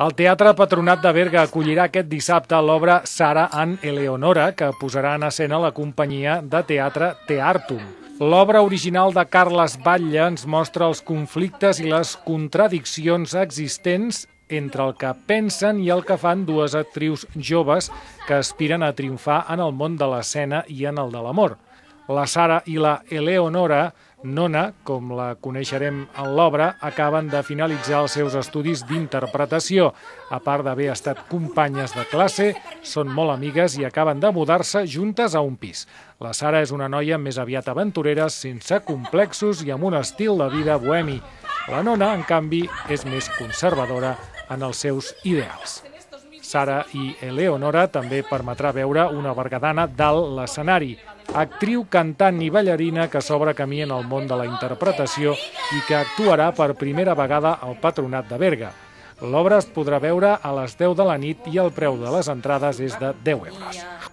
El Teatre Patronat de Berga acollirà aquest dissabte l'obra Sara and Eleonora, que posarà en escena la companyia de teatre Teartum. L'obra original de Carles Batlle ens mostra els conflictes i les contradiccions existents entre el que pensen i el que fan dues actrius joves que aspiren a triomfar en el món de l'escena i en el de l'amor. La Sara i la Eleonora, nona, com la coneixerem en l'obra, acaben de finalitzar els seus estudis d'interpretació. A part d'haver estat companyes de classe, són molt amigues i acaben de mudar-se juntes a un pis. La Sara és una noia més aviat aventurera, sense complexos i amb un estil de vida bohemi. La nona, en canvi, és més conservadora en els seus ideals. Sara i Eleonora també permetrà veure una bergadana dalt l'escenari, actriu, cantant i ballarina que s'obre camí en el món de la interpretació i que actuarà per primera vegada al Patronat de Berga. L'obra es podrà veure a les 10 de la nit i el preu de les entrades és de 10 euros.